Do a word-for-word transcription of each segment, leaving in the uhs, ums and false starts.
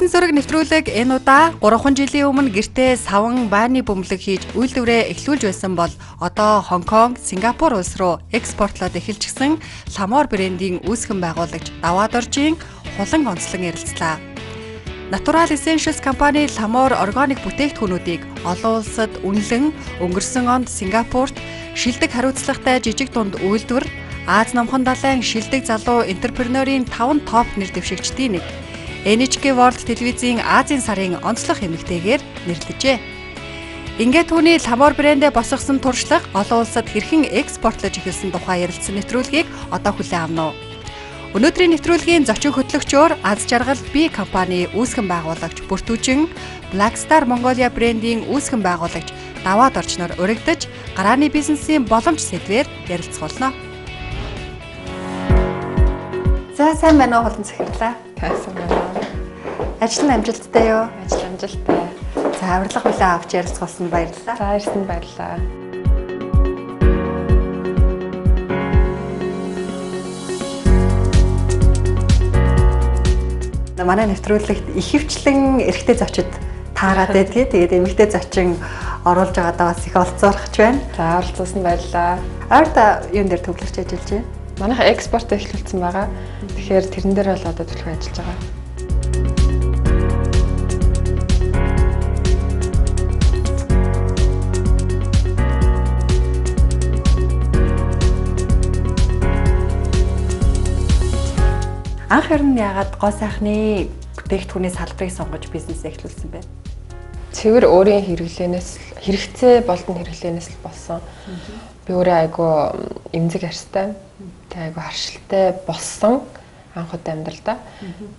Эрдэнэ зураг нэвтрүүлэг энэ удаа гурван жилийн өмнө гэртээ саван байрны бөмбөлөг хийж үйлдвэрээ эхлүүлж байсан бол одоо Хонконг, Сингапур улс руу экспортлоод эхэлчихсэн Ламор брендийн үүсгэн байгуулагч Даваад Оржийн хулан онцлон ярилцлаа. Natural Essentials компани Ламор органик бүтээгдэхүүнүүдийг олон улсад үнэлэн өнгөрсөн онд Сингапурт шилдэг хариуцлагатай жижиг дунд үйлдвэр Аз номхон далайн шилдэг залуу энтерпренерийн таван топ нэр дэвшигчдийн нэг эн эйч кей World телевизийн Азийн сарын онцлог эмэгтэйгээр нэрлэжээ. Ингээд түүний Ламор брэндээ босгосон туршлага олон улсад хэрхэн экспортлож эхэлсэн тухай ярилцсан нэвтрүүлгийг одоо хүлээн авна уу. Өнөөдрийн нэвтрүүлгийн зочин хөтлөгчөөр Аз жаргал би компани үүсгэн байгуулагч бүртүүжин Black Star Mongolia брендийн үүсгэн байгуулагч Даваад Оржноор урагдж гарааны бизнесийн боломж сэдвээр ярилцуулна. За сайн байна уу хулан захирлаа. Тайсан байна. Ажил нь амжилттай юу? Ажил амжилттай. За авирлага хүлээн авч ярилцсан баярлалаа. За ирсэн баярлалаа. Манай нэвтрүүлэгт ихэвчлэн эрэгтэй зочид таарад байдгийг. Тэгээд эмэгтэй зочин оруулж байгаадаа бас их олцоорхож байна. За оролцуулсан баярлалаа. Ойрда юун дээр төвлөрч ажиллаж байна? Манайха экспорт эхлүүлсэн байгаа. Тэгэхээр тэрэн дээр бол одоо төлөв ажиллаж байгаа. Анх хэрн яагаад гоо сайхны бүтээгдэхүүний салбарыг сонгож бизнес эхлүүлсэн бэ? Цэвэр өөрийн хэрэглэнээс хэрэгцээ болон хэрэглэнээс л болсон. Би өөрөө айгүй эмзэг арьстай, тэг айгүй харшилтай болсон анх удаа амьдралдаа.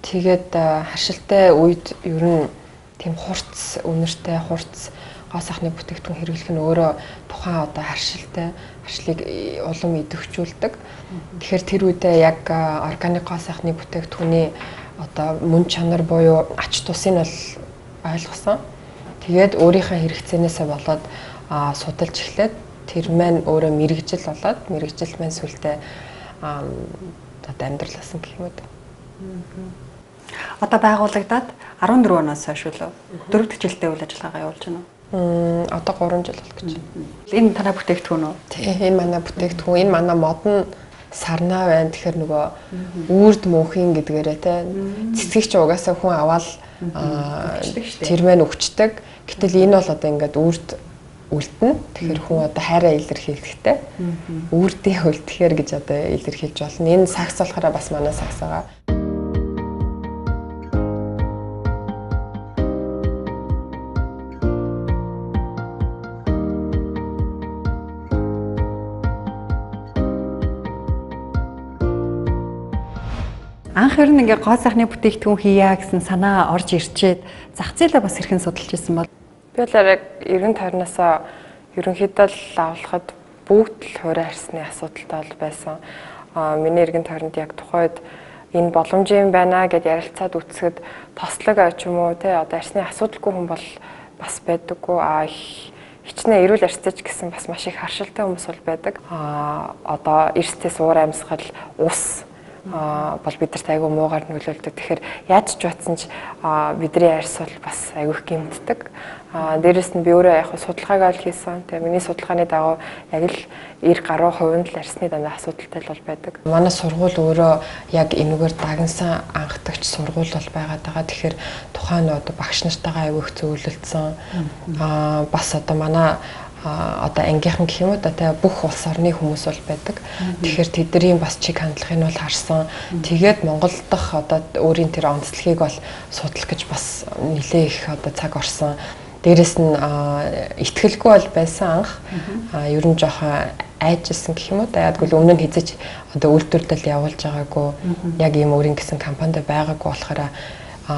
Тэгээд харшилтай үед ер нь тийм хурц үнэртэй хурц гоо сайхны бүтээгдэхүүн хэрэглэх нь өөрөө тухайн одоо харшилтай харшлыг улам идэвхжүүлдэг. Тэгэхээр тэр үедээ яг органик гоо сайхны бүтээгдэхүүний одоо мөн чанар буюу ач тусыг нь бол ойлгосон. Тэгээд өөрийнхөө хэрэгцээнээсээ болоод судалж эхлээд тэр маань өөрөө мэрэгжил болоод мэрэгжил маань сүлдээ одоо амьдралсан гэх юм уу. Одоо байгуулагдаад арван дөрөв оноос хойш үлээ. дөрөв дэх жилдээ үйл ажиллагаагаа явуулж байна уу? Мм одоо гурван жил бол гэж. Энэ танай бүтээгдэхүүн үү? Тийм энэ манай бүтээгдэхүүн. Энэ манай модон сарнаа байна. Тэгэхээр нөгөө үрд мөнхийн гэдгээрээ те цэцгийч угаасаа хүн аваад тэр маань өвчтөг. Гэтэл энэ бол одоо ингээд үрд үлдэнэ. Тэгэхээр хүн одоо хайраа илэрхийлэхтэй. Үрдээ үлдэхээр гэж одоо илэрхийлж болно. Энэ сакс болохоор бас манай сакс байгаа. Анх хэрн ингээ гоо сайхны бүтээгдэхүүн хийя гэсэн санаа орж ирчээд зах зээлээ бас хэрхэн судалж ирсэн бол би бол яг эргэн тойрноосоо ерөнхийдөө л авахад бүгд л хуурай харсны асуудалтай бол байсан. Аа миний эргэн тойронд яг тухайд энэ боломж юм байна гэд ярилцаад үцгэд тослог ч юм уу те одоо арсны асуудалгүй хүн бол бас байдаггүй. Аа хичнээн эрүүл арьстай ч гэсэн бас маш их харшилтай хүмүүс бол байдаг. Аа одоо эрсдээс уур амьсгал ус а бол бидэрт айгүй муугаар нөлөөлдөг. Тэгэхээр яаж ч батсан ч бидний арьс бол бас айгүй гэмтдэг. А дээрэс нь би өөрөө яг судалгааг ол хийсэн. Тэгээ миний судалгааны дагуу яг л эр гаруй хувийн л арьсны дандаа асуудалтай л байдаг. Манай сургууль өөрөө яг энэгээр дагнсан анхдагч сургууль бол байгаад байгаа. Тэгэхээр тухайн одоо багш нартайгаа айгүй их зөвлөлдсөн. А бас одоо манай а одоо ангийнхан гэх юм уу да тэ бүх улс орны хүмүүс бол байдаг. Тэгэхээр тэдний бас чиг хандлагыг бол харсан. Тэгээд Монгол дахь одоо өөрийн тэр онцлогийг бол судлах гэж бас нэлээ их одоо цаг орсон. Дээрэс нь итгэлгүй бол байсан анх. А ер нь жоохон айжсэн гэх юм уу да ядгүй өмнө нь хизэж одоо үйлдвэрлэл явуулж байгаагүй. Яг ийм өөрийн гэсэн компанид байгаагүй болохоор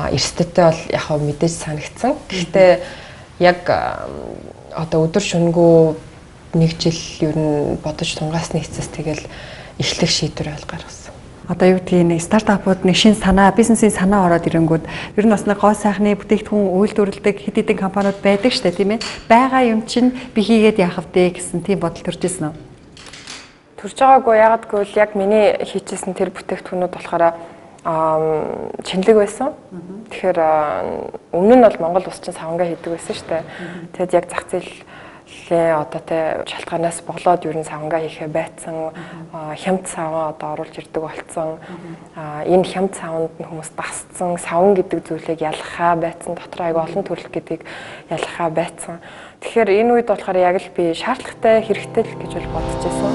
эрсдэлтэй бол яг хөө мэдээж санагдсан. Гэхдээ яг одоо өдөр шөнөгүй нэг жил ер нь бодож тунгаасны эцэс тэгэл эхлэх шийдвэр ойл гаргасан. Одоо юу гэдгийг нэг стартапууд нэг шин санаа, бизнесийн санаа ороод ирэнгүүт ер нь бас нэг гоо сайхны бүтээгдэхүүн үйлдвэрлэдэг хэд хэдэн компаниуд байдаг штэ тийм ээ. Бага юм чинь би хийгээд яах вэ гэсэн тийм бодол төрж ирсэн үү? Төрж байгаагүй ягаад гэвэл яг миний хийчихсэн тэр бүтээгдэхүүнүүд болохоор аа чинлэг байсан. Тэгэхээр өмнө нь бол Монгол улс чинь савангаа хийдэг байсан шүү дээ. Тэгэд яг зах зээлийн одоо тэ шалтгаанаас болоод ер нь савангаа хийхээ байцсан, хямд саван одоо оруулж ирдэг болцсон. Аа энэ хямд саванд нь хүмүүс дасцсан, саван гэдэг зүйлийг ялгахаа байцсан, дотор аяга олон төрөл гэдгийг ялгахаа байцсан. Тэгэхээр энэ үед болохоор яг л би шаардлагатай, хэрэгтэй л гэж бол бодож байсан.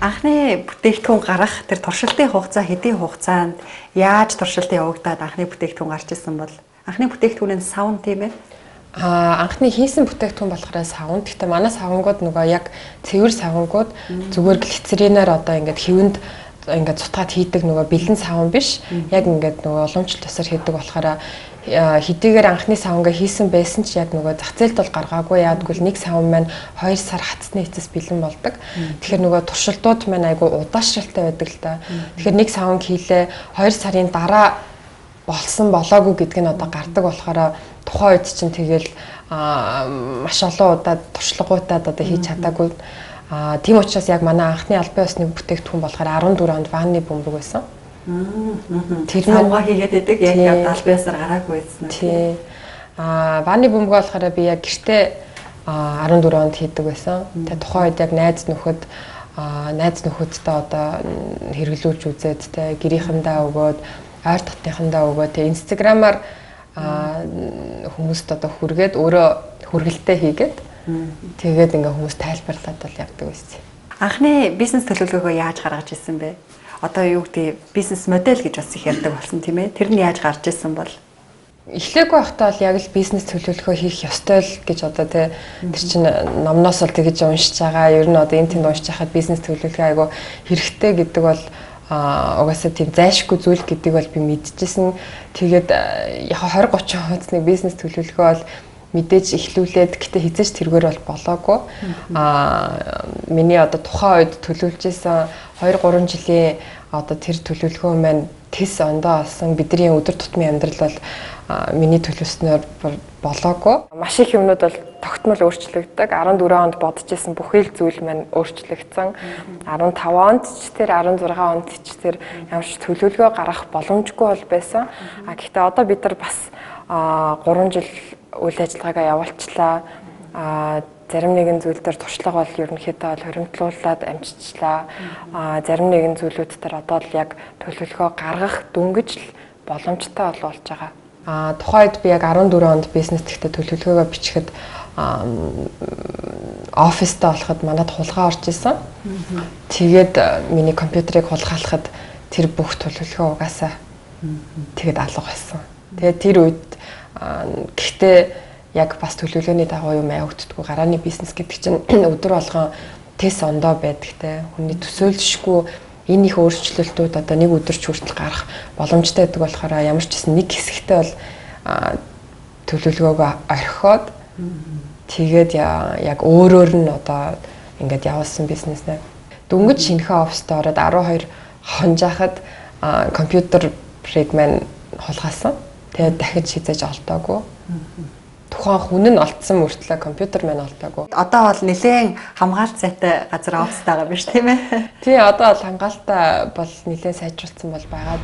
Анхны бүтээгдэхүүн гарах тэр туршилтын хугацаа хэдийн хугацаанд яаж туршилт явагдаад анхны бүтээгдэхүүн гарч ирсэн бол анхны бүтээгдэхүүн нь савн тийм ээ. Аа анхны хийсэн бүтээгдэхүүн болохоор савн. Гэхдээ манай савнгууд нөгөө яг цэвэр савнгууд зүгээр глицеринаар одоо ингээд хэвэнд ингээд цутгаад хийдэг нөгөө бэлэн савн биш. Яг ингээд нөгөө уламжлалт тусаар хийдэг болохоор хэдийгээр анхны савнгаа хийсэн байсан ч яг нөгөө зах зээлд бол гаргаагүй. Яадгүй нэг савн маань хоёр сар хатсны эцэс бэлэн болдог. Тэгэхээр нөгөө туршилтууд маань айгүй удаашралтай байдаг л та. Тэгэхээр нэг савн хийлээ хоёр сарын дараа болсон болоогүй гэдг нь одоо гардаг болохоор тухайн үед чинь тэгэл маш олон удаа туршлагуудад одоо хийж чадаагүй. Аа тийм учраас яг манай анхны албан ёсны бүтээгдэхүүн болохоор арван дөрөв онд ванны бөмбөг байсан. Тэр савгаа хийгээд байдаг яг албан ёсоор гараагүй байсан. Тий. Аа ванны бөмбөг болохоор би яг гэртээ арван дөрөв онд хийдэг байсан. Тэгээ тухайн үед яг найз нөхөд найз нөхөдтэй одоо хэрэглүүлж үзээд тэ гэрийнхэндээ өгөөд ойр дотныхандаа өгөөд тэ инстаграмаар хүмүүст одоо хүргээд өөрөө хүргэлтээ хийгээд тэгээд ингээ хүмүүс тайлбарлаад бол явдаг байсан. Анхны бизнес төлөвлөгөөгөө яаж гаргаж ирсэн бэ? Одоо юу гэдэг бизнес модель гэж бас их ярьдаг болсон тийм ээ. Тэр нь яаж гарч ирсэн бол? Эхлээгүй байхдаа бол яг л бизнес төлөвлөгөө хийх ёстой л гэж одоо тэ тэр чинь номноос л тэгэж уншиж байгаа. Ер нь одоо энэ тэнд уншиж хахад бизнес төлөвлөгөө айгу хэрэгтэй гэдэг бол а угаасаа тийм зайлшгүй зүйл гэдэг бол би мэдчихсэн. Тэгээд яг двадцать тридцать хуудасны бизнес төлөвлөгөө бол мэдээж эхлүүлээд гэтээ хизээч тэргээр бол болоогүй. А миний одоо тухайн үед төлөвлөж исэн two three жилийн одоо тэр төлөвлөгөө маань тэс ондоо олсон бидний өдөр тутмын амьдрал бол миний төлөвснөөр болоогүй. Маш их юмнууд бол тогтмол өөрчлөгддөг. арван дөрөв онд бодож исэн бүхэл зүйл маань өөрчлөгдсөн. арван таван онд ч тэр арван зургаан онд ч тэр ямар ч төлөвлөгөө гаргах боломжгүй бол байсан. А гэхдээ одоо бид нар бас гурван жил үйл ажиллагаагаа явуулчлаа. А зарим нэгэн зүйл дээр туршлага бол ерөнхийдөө бол хоригдлуулад амжицлаа. А зарим нэгэн зүйлүүд дээр одоо л яг төлөвлөгөө гаргах дөнгөж л боломжтой бол болж байгаа. А тухайд би яг арван дөрөв онд бизнес гэхдээ төлөвлөгөөгөө бичихэд оффистаа болоход манад хулгай орж исэн. Тэгээд миний компьютерыг хулгайлахад тэр бүх төлөвлөгөө угаасаа тэгээд алга болсон. Тэгээд тэр үед гэхдээ яг бас төлөвлөгөөний дагуу юм явагддаггүй. Гарааны бизнес гэдэг чинь өдөр болгон тэс ондоо байдаг те. Хүний төсөөлшгүй энэ их өөрчлөлтүүд одоо нэг өдөрч хүртэл гарах боломжтой байдаг болохоор ямар ч гэсэн нэг хэсэгтээ бол төлөвлөгөөгөө орхиод тэгээд яг өөрөөр нь одоо ингээд явуулсан бизнеснээ. Дөнгөж шинэхэн оффистаа ороод арван хоёр хонжаахад компьютерыг маань хулгайлсан. Тэгээд дахиж хизээж олдоогүй. Тухайн хүн нь олдсон мөртлөө компьютер маань олдоогүй. Одоо бол нэлээд хамгаалт сайтай газар оффистаа байгаа биш тийм ээ? Тий, одоо бол хамгаалтаа бол нэлээд сайжруулсан бол байгаа.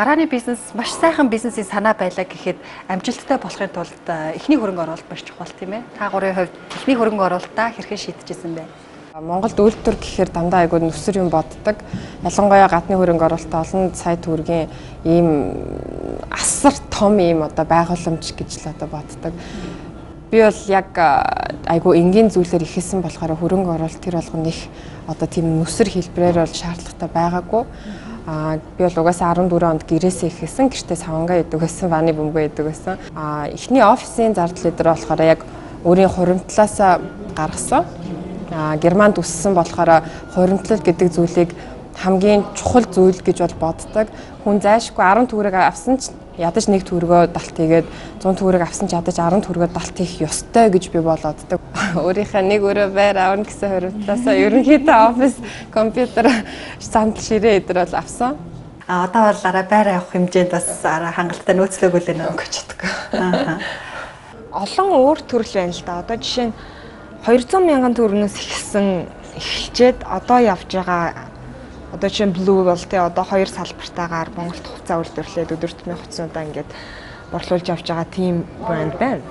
Гарааны бизнес маш сайхан бизнесийн санаа байлаа гэхэд амжилттай болохын тулд эхний хөрөнгө оруулалт маш чухал тийм ээ. Та гурийн хувьд эхний хөрөнгө оруулалтаа хэрхэн шийдэжсэн бэ? Монголд үйлдвэр гэхээр дандаа айгүй нүсэр юм боддог. Ялангуяа гадны хөрөнгө оруулалт олон сая төгрөгийн ийм асар том ийм одоо байгууламж гэж л одоо боддог. Би бол яг айгүй энгийн зүйлээр ихэсэн болохоор хөрөнгө оруулалт тэр болгоно их одоо тийм нүсэр хэлбэрээр бол шаардлагатай байгаагүй. Аа би бол угаасаа арван дөрвөн онд гэрээсээ ихэсэн, гэртээ савангаа идэг байсан, ванны бөмбөг идэг байсан. Аа эхний офисын зардал өдөр болохоор яг өөрийн хуримтлаасаа гаргасан. Аа Германд үссэн болохоор хуримтлал гэдэг зүйлийг хамгийн чухал зүйл гэж бол боддог. Хүн зайлшгүй арван төгрөг авсан ч ядаж нэг төгрөгөө далт хийгээд зуун төгрөг авсан ч ядаж арван төгрөгөө далт хийх ёстой гэж би болооддаг. Өөрийнхөө нэг өрөө байр авна гэсэн хуримтлаасаа ерөнхийдөө офис компьютер сандал ширээ эдэр бол авсан. А одоо бол арай байр авах хэмжээнд бас арай хангалттай нөөцлөөгүй л нэ гэж чаддаг. Аа. Олон өөр төрөл байна л да. Одоо жишээ нь двухсот мянган төгрөгнөөс ихсэн эхэлчээд одоо явж байгаа одоо чинь Blue бол тэ одоо хоёр салбартаагаар Монголд хувцас үйлдвэрлээд өдөр тутмын хувцсуудаа ингээд борлуулж авч байгаа тийм брэнд байна.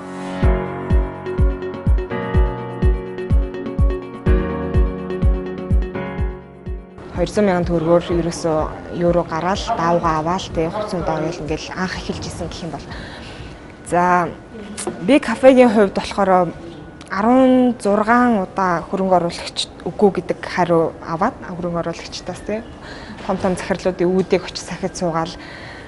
двухсот мянган төгрөгөөр ерөөсөө евро гараал даавга аваал тэ хувцсуудаа ойл ингээд анх эхэлж исэн гэх юм бол. За би кафегийн хувьд болохоор арван зургаан удаа хөрөнгө оруулагч үгүй гэдэг хариу аваад хөрөнгө оруулагчдаас тийм том том захирлуудын үүдийг очиж сахид суугаал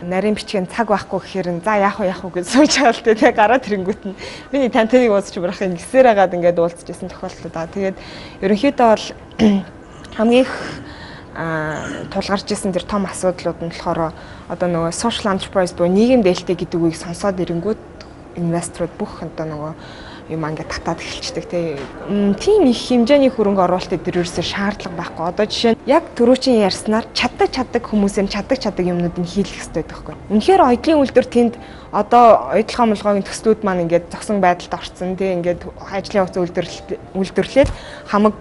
нарийн бичгийн цаг байхгүй гэхээр за яах вэ яах вэ гэж сууж байгаа л тийм гараад тэрэнгүүт нь миний тантаныг уусч бурах ингэсээр хагаад ингээд уулзчихсан тохиолдол да. Тэгээд ерөнхийдөө бол хамгийн их тулгарч исэн тэр том асуудлууд нь болохоор одоо нөгөө social enterprise буюу нийгэм дээлтэй гэдэг үгийг сонсоод ирэнгүүт инвесторууд бүх одоо нөгөө юм ингээд татаад эхэлчихдэг тийм их хэмжээний хөрөнгө оруулалт дээр ерөөсөө шаардлага байхгүй. Одоо жишээ нь яг түрүүчийн ярьснаар чаддаг чаддаг хүмүүсээр чаддаг чаддаг юмнуудыг хийлгэх хэрэгтэй байхгүй. Үнэхээр оёдлын үйлдвэр тэнд одоо оюутлахаа мулгоогийн төслүүд маань ингээд зогсон байдалд орцсон тийм ингээд ажлын хувьцаа үйлдвэрлээд хамаг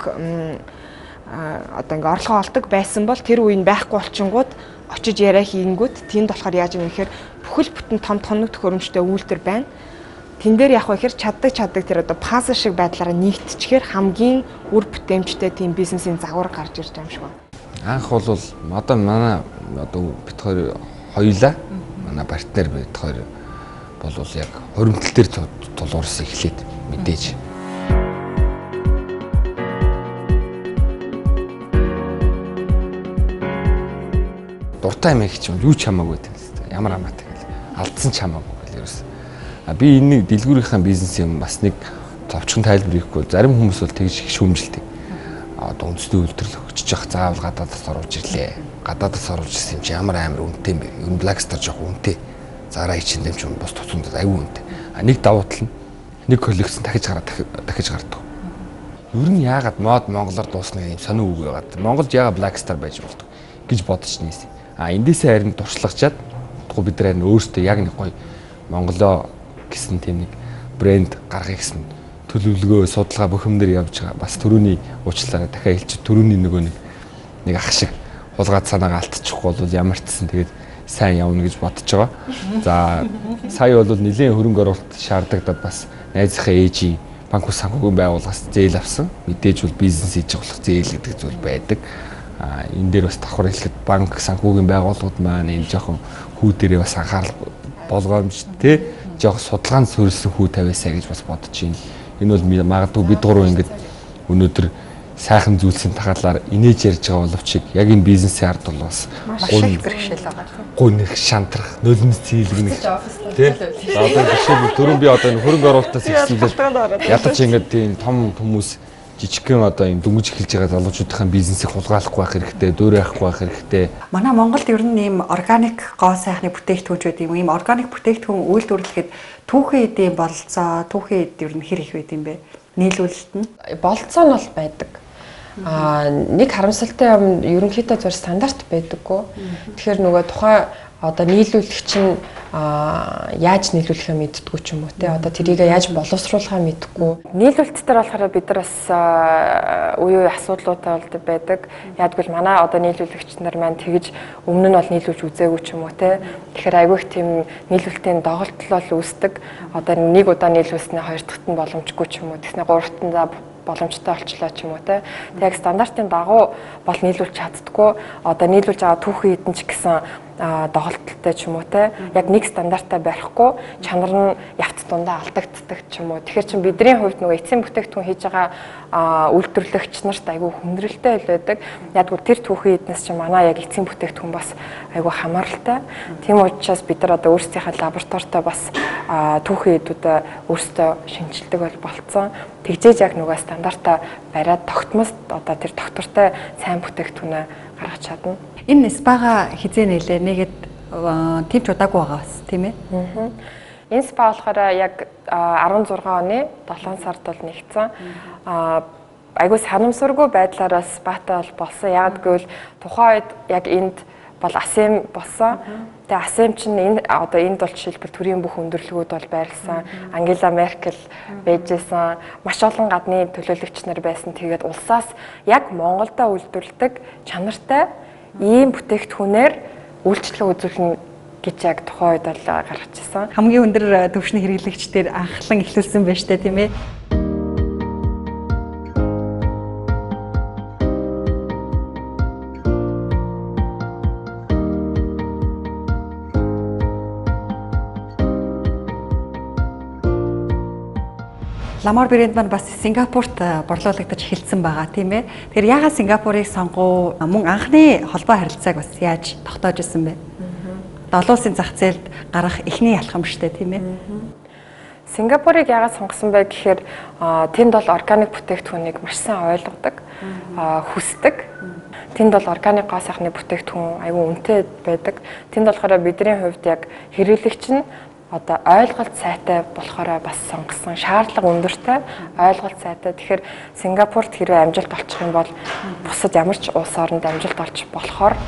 одоо ингээд орлогоо олдог байсан бол тэр үеийн байхгүй болчингууд очиж яриа хийнгүүт тэнд болохоор яаж юм гэхээр бүхэл бүтэн том тоног төхөөрөмжтэй үйлдвэр байна. Тэн дээр яг ихэр чаддаг чаддаг тэр одоо пазл шиг байдлаараа нэгтчихээр хамгийн үр бүтээмжтэй тийм бизнесийн загвар гарч ирж байгаа юм шиг байна. Анх бол одоо манай одоо бид хоёр хоёулаа манай партнер бид хоёр бол яг хуримтлал дээр тулгуурсан эхлээд мэдээж. Дуртай юм их ч юм юу ч хамаагүй гэдэг. Ямар хамаатай гэл алдсан ч хамаагүй гэл ерөөс. Би энэ дэлгүүрийнхаа бизнес юм бас нэг товчхон тайлбар хийхгүй зарим хүмүүс бол тэгж их шүүмжилдэг. Одоо үндэсний үйлдвэрлэл өгч явах заавал гадаадаас оруулж ирлээ. Гадаадаас оруулж ирсэн юм чи ямар амар үнэтэй юм бэ? Ер нь Blackstar жоох үнэтэй. Зараа ичэндээ ч юм бус туцундад аюу үнэтэй. А нэг давуу тал нь нэг коллекцэн дахиж гараад дахиж гардаг. Ер нь яагаад мод монголоор дуусна юм сонио үг байгаад. Монголд яагаад Blackstar байж болдог гэж бодож нээсэн. А эндээсээ харин туршлагачаад бид нар харин өөрсдөө яг нэг гоё монголоо гэсэн тийм нэг брэнд гаргахыг гэсэн төлөвлөгөө судалгаа бухимдэр явж байгаа. Бас төрөүний уучлаарай дахиад хэлчих. Төрөүний нөгөө нэг нэг ах шиг хулгайд санаагаа алдчихгүй бол ямар ч гэсэн тэгээд сайн явна гэж бодож байгаа. За сая бол нэлийн хөрөнгө оруулалт шаардлагадад бас найзынхаа ээжийн банк ус санхүүгийн байгууллагаас зээл авсан. Мэдээж бол бизнес хийж болох зээл гэдэг зүйл байдаг. А энэ дээр бас давхар хэлэхэд банк санхүүгийн байгууллагууд маань энэ жоохон хүү дээрээ бас анхаарал болгоомжтой жоох судалгаанд суурилсан хүү тавиасаа гэж бас бодож байна. Энэ бол магадгүй бид гурав ингэж өнөөдөр сайхан зүйлсийн тахалаар инээж ярьж байгаа боловч яг энэ бизнесийн ард бол бас гун бэрхшээл байгаа тийм. Гунх шантрах, нулимс цэглэгнэх тийм. Одоо жишээ түрүүн би одоо хөрөнгө оруулалтаас ихсүүлээд ядаж ингэж тийм том хүмүүс жижигхэн одоо юм дөнгөж эхэлж байгаа залуучуудын бизнесийг хулгайлахгүй байх хэрэгтэй, дөөрөө авахгүй байх хэрэгтэй. Манай Монголд ер нь ийм органик гоо сайхны бүтээгдэхүүнч байдаг юм. Ийм органик бүтээгдэхүүн үйлдвэрлэхэд түүхэн эдийн бололцоо, түүхэн эд ер нь хэр их байд юм бэ? Нийлүүлэлт нь бололцоо нь бол байдаг. Аа нэг харамсалтай юм ерөнхийдөө зөв стандарт байдаггүй. Тэгэхээр нөгөө тухайн одоо нийлүүлэгч нь яаж нийлүүлэхээ мэддэггүй ч юм уу те одоо тэрийг яаж боловсруулахаа мэддэггүй. Нийлүүлэлт дээр болохоор бид нар бас үе үе асуудлуудаа бол байдаг. Яагтвэл манай одоо нийлүүлэгч нар маань тэгж өмнө нь бол нийлүүлж үзээгүй ч юм уу те. Тэгэхээр айгүйх тийм нийлүүлэлтийн доголдол бол үүсдэг. Одоо нэг удаа нийлүүлснээр хоёр дахьт нь боломжгүй ч юм уу. Тэгснэ гурав дахьт нь за боломжтой болчлоо ч юм уу те. Тэг яг стандартын дагуу бол нийлүүлж чаддаггүй. Одоо нийлүүлж байгаа түүхэн хитэн ч гэсэн доголдолтой ч юм уу те. Яг нэг стандартаа барихгүй чанар нь явц дундаа алдагддаг ч юм уу. Тэгэхээр чин бидний хувьд нөгөө эцсийн бүтээгдэхүүн хийж байгаа үйлдвэрлэгч нарт айгүй хүндрэлтэй байдаг. Яг гоо тэр түүхэн хитнээс чи манай яг эцсийн бүтээгдэхүүн бас айгүй хамааралтай. Тийм учраас бид нар одоо өөрсдийнхээ лабораторитой бас түүхэн хитүүдээ өөрсдөө шинжилдэг бол болцсон. Тэгжээж яг нөгөө стандартаа бариад тогтмост одоо тэр доктортой сайн бүтээгдэхүүнээ гаргаж чадна. Энэ спага хизээ нэлээ нэгэд тийм ч удаагүй байгаа бас тийм ээ. Энэ спа болохоор яг арван зургаан оны долоон сард бол нэгдсэн. Айгуу санамсаргүй байдлаараа спатай бол болсон. Яг гэвэл тухайн үед яг энд бол асем болсон. Тэгээ асем чинь энэ одоо энд бол жишээлбэл төрийн бүх өндөрлөгүүд бол байрласан. Ангела Меркель байжсэн. Маш олон гадны төлөөлөгч нар байсан. Тэгээд улсаас яг Монголдо үйлдвэрлэдэг чанартай ийм бүтээгдэхүүнээр үйлчлэг үзүүлнэ гэж яг тухайн үед бол гаргаж ирсэн. Хамгийн өндөр түвшний хэрэглэгчдэр анхлан эхлүүлсэн байж таа тийм ээ. Ламор брэнд маань бас Сингапурт борлуулагдаж эхэлсэн байгаа тийм ээ. Тэгэхээр яагаад Сингапурыг сонгоо мөн анхны холбоо харилцааг бас яаж тогтоож ирсэн бэ? Олон улсын зах зээлд гарах эхний ялхам штэ тийм ээ. Сингапурыг яагаад сонгосон бэ гэхээр тэнд бол органик бүтээгдэхүүнийг маш сайн ойлгодог, хүсдэг. Тэнд бол органик гоо сайхны бүтээгдэхүүн аюу үнэтэй байдаг. Тэнд болохоор бидний хувьд яг хэрэглэгч нь одоо ойлголт сайтай болохоор бас сонгосон. Шаардлага өндөртэй, ойлголт сайтай. Тэгэхээр Сингапурт хэрвээ амжилт олчих юм бол бусад ямар ч улс оронд амжилт олж болохоор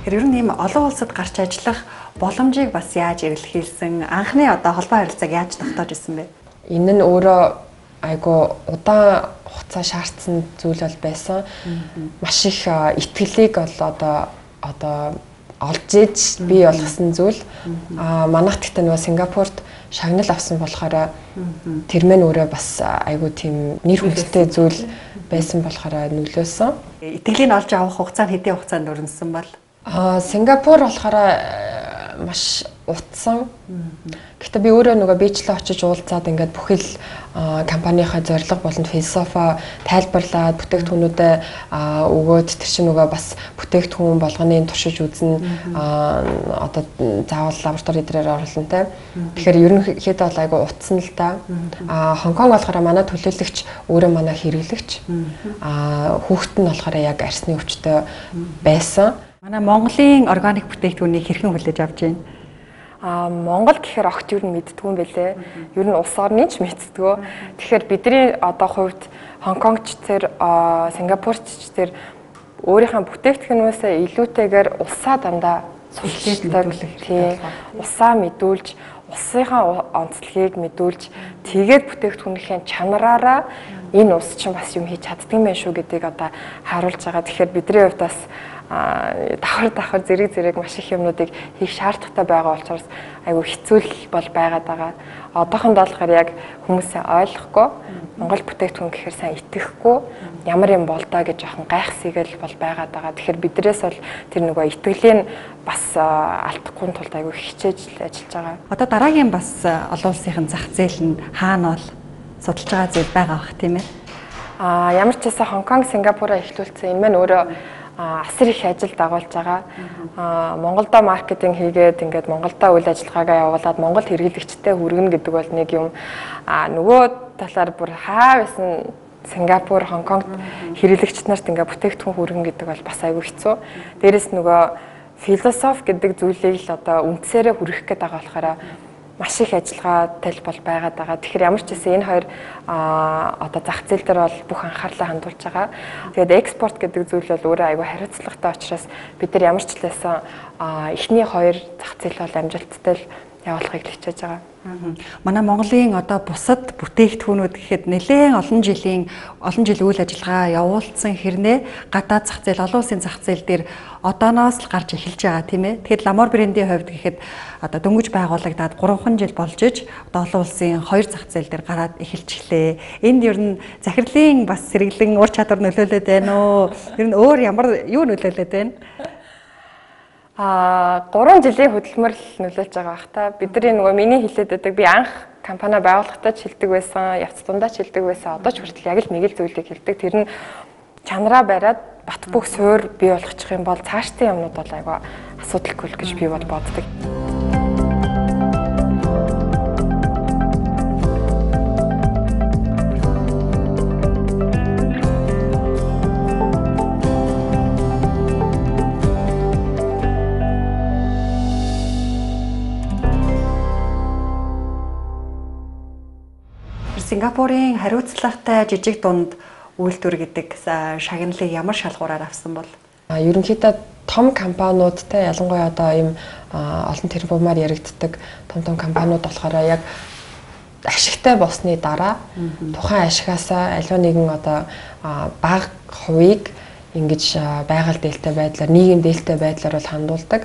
Тэр ер нь ийм олон улсад гарч ажиллах боломжийг бас яаж эрэлхийлсэн? Анхны одоо холбоо харилцааг яаж тогтоож ирсэн бэ? Энэ нь өөрөө айгу удаан хугацаа шаардсан зүйл бол байсан. Маш их итгэлийг бол одоо одоо олж иж бий болгосон зүйл. Аа манайх гэхдээ нөгөө Сингапурт шагнал авсан болохоор тэр мэн өөрөө бас айгу тийм нэр хүндтэй зүйл байсан болохоор нөлөөсөн. Итгэлийг олж авах хугацаа нь хэдийн хугацаанд өрнөсөн бол? А Сингапур болохоор маш утсан. Гэхдээ би өөрөө нөгөө бичлээ очиж уулзаад ингээд бүхэл компанийнхаа зорилго болон философи тайлбарлаад бүтээгдэхүүнүүдээ өгөөд тэр чинь нөгөө бас бүтээгдэхүүн болгоны туршиж үзнэ одоо заавал лаборатори дээр оруулна те. Тэгэхээр ерөнхийдөө бол айгу утсан л да. А Хонконг болохоор манай төлөөлөгч өөрөө манай хэрэглэгч. А хүүхэд нь болохоор яг арсны өвчтөй байсан. Манай Монголын органик бүтээгдэхүүнийг хэрхэн хүлээж авч байна? Аа Монгол гэхээр огт юу мэддэггүй юм бэлээ. Ер нь улс орны ч мэддэггүй. Тэгэхээр бидний одоо хувьд Хонконгч тэр Сингапурч тэр өөрийнхөө бүтээгдэхүүнөөсөө илүүтэйгээр улсаа дандаа суулгуулдаг. Тийм. Улсаа мэдүүлж, улсынхаа онцлогийг мэдүүлж, тэгээд бүтээгдэхүүнийхээ чанараараа энэ улс чинь бас юм хийж чаддаг юм байна шүү гэдгийг одоо харуулж байгаа. Тэгэхээр бидний хувьд бас давхар давхар зэрэг зэрэг маш их юмнуудыг хийх шаардлагатай байгаа учраас айгүй хэцүү бол байгаад байгаа. Одоохондоо болохоор яг хүмүүсээ ойлгохгүй, Монгол бүтээгдэхүүн гэхээр сайн итгэхгүй, ямар юм бол доо гэж жоохон гайхсгийгэл бол байгаад байгаа. Тэгэхээр бидрээс бол тэр нөгөө итгэлийн бас алдахгүй тулд айгүй хичээж ажиллаж байгаа. Одоо дараагийн бас олон улсын зах зээл нь хаана бол судалж байгаа зүйл байгаа бах тийм ээ. Аа ямар ч байсан Хонконг, Сингапураа эхлүүлсэн. Энэ маань өөрөө асар их ажил дагуулж байгаа. Аа Монголдо маркетинг хийгээд ингээд Монголдо үйл ажиллагаагаа явуулаад Монгол хэрэглэгчтэй хүргэнэ гэдэг бол нэг юм. Аа нөгөө талаар бүр хаа байсан Сингапур, Хонконгт хэрэглэгчд нарт ингээд бүтээгдэхүүн хүргэнэ гэдэг бол бас айгүй хэцүү. Дээрээс нөгөө философи гэдэг зүйлийг л одоо үндсээрээ хүргэх гээд байгаа болохоор маш их ажиллагаатай бол байгаад байгаа. Тэгэхээр ямар ч гэсэн энэ хоёр одоо зах зээл дээр бол бүх анхаарлаа хандуулж байгаа. Тэгээд экспорт гэдэг зүйл бол өөрөө аюу хариуцлагатай учраас бид нар ямар ч лээсэн эхний хоёр зах зээл бол амжилттай явуулахыг хичээж байгаа. Манай Монголын одоо бусад бүтээгдэхүүнүүд гэхэд нэлээд олон жилийн олон жил үйл ажиллагаа явуулсан хэрнээ гадаад зах зээл, олон улсын зах зээл дээр одооноос л гарч эхэлж байгаа тийм ээ. Тэгэхээр Ламор брендийн хувьд гэхэд одоо дөнгөж байгуулагдаад гурван жил болж иж одоо олон улсын хоёр зах зээл дээр гараад эхэлчихлээ. Энд ер нь захирлын бас сэргэлэн ур чадвар нөлөөлөд байна уу? Ер нь өөр ямар юу нөлөөлөд байна? Аа гурван жилийн хөдөлмөрлөл нөлөөлж байгаа бах та. Бидний нөгөө миний хэлээд байдаг би анх компани байгуулахдаа ч хэлдэг байсан, явц дундаа ч хэлдэг байсан. Одоо ч хүртэл яг л нэг л зүйлийг хэлдэг. Тэр нь чанараа бариад бат бөх суур бий болгочих юм бол цаашдын юмнууд бол айгаа асуудалгүй л гэж би бол боддог. Сингапурын хариуцлагатай жижиг дунд үйлдвэр гэдэг шагналыг ямар шалгуураар авсан бол? Ерөнхийдөө том компаниудтай ялангуяа одоо ийм олон тэрбумаар яригддаг том том компаниуд болохоор яг ашигтай болсны дараа тухайн ашигаасаа аливаа нэгэн одоо бага хувийг ингэж байгаль дээлтэй байдлаар нийгэм дээлтэй байдлаар бол хандуулдаг.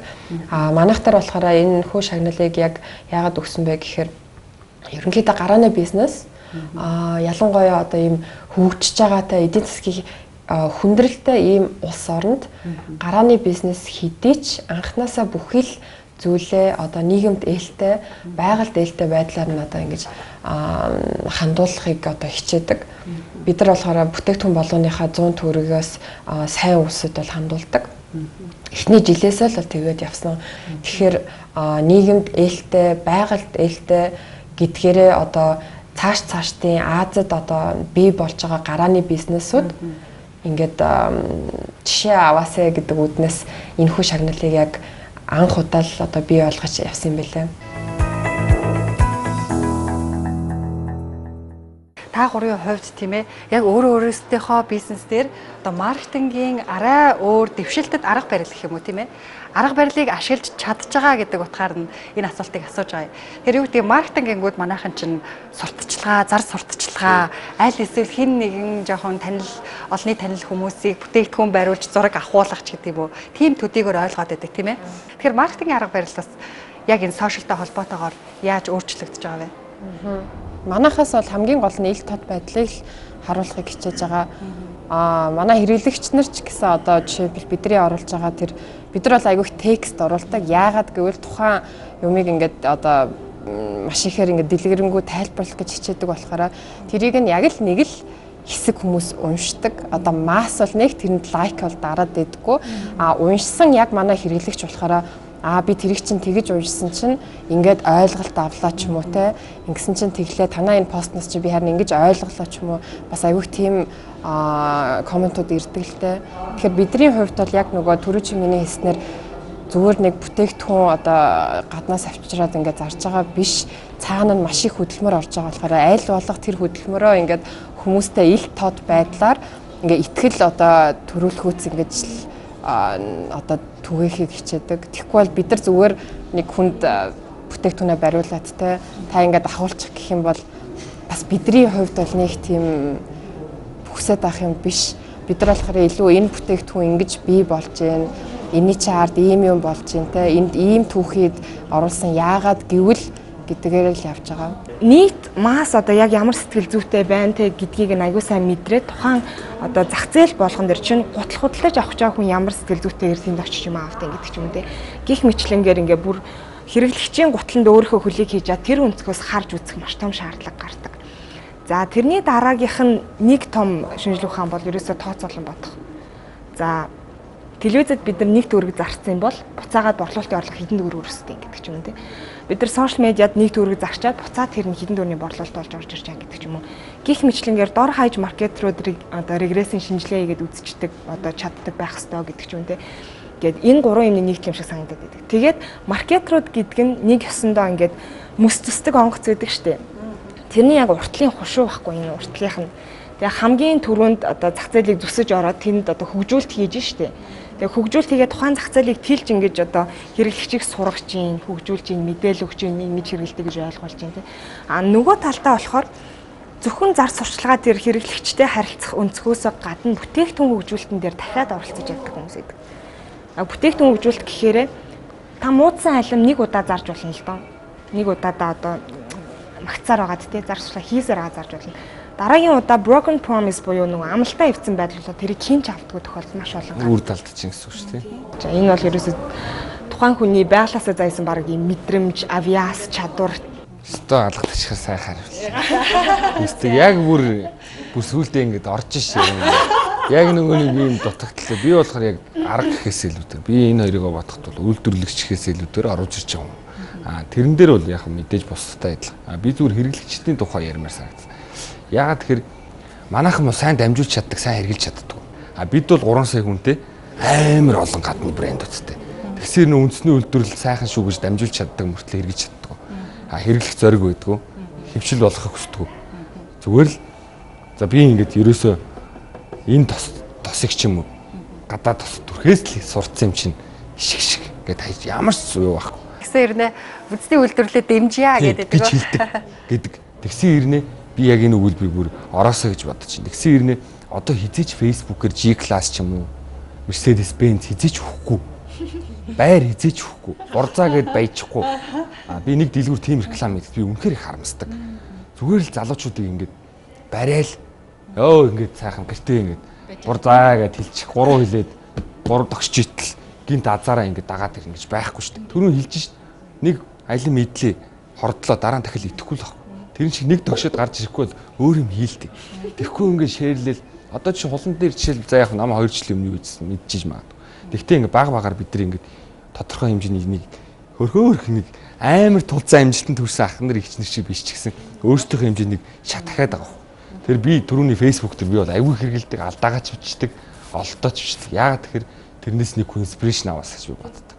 А манайх таар болохоор энэ хүү шагналыг яг яагаад өгсөн бэ гэхээр ерөнхийдөө гарааны бизнес а ялангуяа одоо ийм хөгжиж байгаатай эдийн засгийн хүндрэлтэй ийм улс оронд гарааны бизнес хэдий ч анханасаа бүхий л зүйлээ одоо нийгэмд ээлтэй байгаль дээлтэй байдлаар нь одоо ингэж хандуулахыг одоо хичээдэг. Бид нар болохоор бүтээгдэхүүн болгоныхаа зуун төгрөгөөс сайн үсэд бол хандуулдаг. Эхний жилээсээ л бол тэгээд явсан. Тэгэхээр нийгэмд ээлтэй, байгальд ээлтэй гэдгээрээ одоо цааш цаашдын Азад одоо бий болж байгаа гарааны бизнесүүд ингээд жишээ аваасаа гэдэг үднэс энэ хүү шагналыг яг анх удаа л одоо бий болгож явсан юм билээ. Та гурийн хувьд тийм ээ яг өөрөө өөрөөсийнхөө бизнес дээр одоо маркетингийн арай өөр дэвшилтэд арга барил гэх юм уу тийм ээ арга барилыг ашиглаж чадж байгаа гэдэг утгаар нь энэ асуултыг асууж байгаа. Тэр юу гэдэг маркетингингүүд манайхан чинь сурталчилгаа, зар сурталчилгаа, аль эсвэл хэн нэгэн жоохон танил олонний танил хүмүүсийг бүтээгдэхүүн бариулж зураг авахуулах ч гэдэг юм уу. Тим төдийгөр ойлгоод байдаг тийм ээ. Тэгэхээр маркетингийн арга барил бас яг энэ сошиалтай холбоотойгоор яаж өөрчлөгдөж байгаа вэ? Манайхаас бол хамгийн гол нь ил тод байдлыг харуулахыг хичээж байгаа. Аа манай хэрэглэгч нар ч гэсэн одоо жишээлбэл бидний оруулж байгаа тэр бид нар бол айгүйх текст оруулдаг. Яагаад гэвэл тухайн юмыг ингээд одоо маш ихээр ингээд дэлгэрэнгүй тайлбарлах гэж хичээдэг болохоор тэрийг нь яг л нэг л хэсэг хүмүүс уншдаг. Одоо масс бол нэг тэрэнд лайк бол дараад байдаггүй. А уншсан яг манай хэрэглэгч болохоор аа би тэрийг чинь тэгэж уншсан чинь ингээд ойлголт авлаа ч юм уу те ингэсэн чинь тэглээ танаа энэ постноос чи би харин ингэж ойлголоо ч юм уу бас айгүйх тийм комментууд ирдэг л те. Тэгэхээр бидний хувьд бол яг нөгөө түрүү чи миний хэлснээр зүгээр нэг бүтээгдэхүүн одоо гаднаас авчираад ингээд зарж байгаа биш цаана нь маш их хөдөлмөр орж байгаа болохоор аль болох тэр хөдөлмөрөө ингээд хүмүүстэй ил тод байдлаар ингээд итгэл одоо төрүүлэхүүц ингэж одоо түгээхийг хичээдэг. Тэгэхгүй бол бид нар зүгээр нэг хүнд бүтээгдэхүүнээ бариулаад те та ингээд ахуулчих гэх юм бол бас бидний хувьд бол нэг тийм бүхсэд авах юм биш. Бид нар болохоор илүү энэ бүтээгдэхүүн ингэж бий болж байна. Энийний чи ард ийм юм болж байна те энд ийм түүхийд оруулсан яагаад гэвэл гэдгээр л явж байгаа. Нийт масс одоо яг ямар сэтгэл зүйтэй байна те гэдгийг нь аягүй сайн мэдрээд тухайн одоо зах зээл болгон дэр чинь гутал худалдаж авах чаа хүн ямар сэтгэл зүйтэйгээр тэнд очиж юм аавтай гэдэг ч юм те. Гих мэтлэнгээр ингээ бүр хэрэглэгчийн гутланд өөрийнхөө хөлийг хийж чад тэр өнцгөөс харж үзэх маш том шаардлага гардаг. За тэрний дараагийнх нь нэг том шинжилгээ ухаан бол ерөөсөө тооцоолон бодох. За телевизэд бид нар нэг төгрөг зарцсан бол буцаагаад борлуулалтын орлого хэдэн төгрөг өрсөлдөй гэдэг ч юм уу те. Бид нар сошиал медиад нэг төгрөг зарчаад буцаад тэр нь хэдэн төгрөгийн борлуулалт болж орж ирж байгаа гэдэг ч юм уу. Гих мэтлэнгээр дор хаяж маркетруудыг одоо регрессийн шинжилгээ хийгээд үзчихдэг одоо чаддаг байх ёстой гэдэг ч юм те. Гэт энэ гурван юмны нийт юм шиг санагдаад байдаг. Тэгээд маркетрууд гэдэг нь нэг ёсондоо ингээд мэс төсдөг онгоц байдаг штеп. Тэрний яг уртлын хушуу байхгүй энэ уртлынх нь. Тэгээ хамгийн түрүүнд одоо зах зээлийг зүсэж ороод тэнд одоо хөгжүүлэлт хийж штеп. Тэгээ хөгжүүлэлт хийгээд тухайн зах зээлийг тэлж ингэж одоо хэрэглэгчийг сургаж чинь, хөгжүүлж чинь, мэдээлэл өгч чинь ингэж хэрэгэлдэг гэж ойлгуулж чинь тий. А нөгөө талдаа болохоор зөвхөн зар сурчлагаа тэр хэрэглэгчтэй харилцах өнцгөөсөө гадна бүтээгдэхүүн хөгжүүлэлтэн дээр дахиад оролцож яддаг хүмүүс идэг. А бүтээгдэхүүн хөгжүүлэлт гэхээр та муудсан алим нэг удаа зарж болно л доо. Нэг удаадаа одоо магцаар байгаад тий зар сурчлага хийсээр байгаа зарж болно. Дараагийн удаа broken promise буюу нөгөө амлалтаа ивцэн байдал болоо тэрийг хинч автдаг тохиолдол маш олон. Үр талд чинь гэсэн үг шүү дээ. За энэ бол ерөөсөө тухайн хүний байглаасаа зайсан баг юм мэдрэмж, авиас, чадвар өстөө алгадчихар сайхан хариулсан. Үстэй яг бүр бүр сүулдэ ингэж орж шээ. Яг нөгөө нэг юм дутагдлаа. Би болохоор яг арга гэхээс илүүтэй. Би энэ хоёрыг бодоход бол үйлдвэрлэгч гэхээс илүүтэй оруулж ирж байгаа юм. А тэрэн дээр бол яг мэдээж бусдтай адилхан. А би зүгээр хэрэглэгчдийн тухай ярмаар санагдсан. Яагаад тэгэхээр манайхан мо сайн дамжуулж чаддаг, сайн хэрэгжилж чаддаг. А бид бол гурван сая хүнтэй амар олон гадны брэнд үсттэй. Тэгсээр нөө үндэсний үйлдвэрлэл сайхан шүү гэж дамжуулж чаддаг мөртлөө хэрэгжилж чаддаг. А хэрэглэх зориг байдгүй. Хөвшил болохыг хүсдэг. Зүгээр л за би ингэж ерөөсөө энэ тос тосыг ч юм уу гадаа тос түрхээс л сурцсан юм чинь шиг шиг гэд хайж ямар ч юу байхгүй. Тэгсэн ирнэ үндэсний үйлдвэрлэлээ дэмжийа гэдэг гэж хэлдэг гэдэг. Тэгсэн ирнэ би яг энэ өгүүлбэрийг бүр ороосоо гэж бодож чинь. Тэгсэн ирнэ одоо хизээч Facebook-ээр G-class ч юм уу Mercedes-Benz хизээч өгөхгүй. Байр хизээч өгөхгүй. Бурзаа гэд баяжихгүй. А би нэг дэлгүүр тим реклам хийдэг. Би үнэхээр их харамсдаг. Зүгээр л залуучуудыг ингэж барайл ёо ингэж сайхан гэртээ ингэж бурзаа гэд хэлчих. Гурван хилээд гурав тогсч итэл гинт азаараа ингэж дагаад ингэж байхгүй шүү дээ. Түрүү хэлж шít. Нэг аялын мэдлээ хордлоо дараа нь дахил итгэхгүй л баг. Тэр шиг нэг тогшоод гарч ирэхгүй бол өөр юм хийлдэг. Тэгэхгүй ингээд шеэрлэл одоо чи хулан дээр жишээл за яг намаа хоёр жил өмнө юу ийдсэн мэдчихэж магадгүй. Тэгтээ ингээд баг багаар бид нар ингээд тодорхой хэмжээний нэг хөрхөөрх нэг амар тулцаа амжилтанд хүрсэн ах нар ихч нар шиг биш ч гэсэн өөрсдийнхөө хэмжээнийг шат дахиад байгаа. Тэр би түрүүний Facebook дээр би бол аягүй хэрэгэлдэг, алдаагач бичдэг, олдооч бичдэг. Яагаад тэгэхээр тэрнээс нэг инспирэшн аваас гэж би боддог.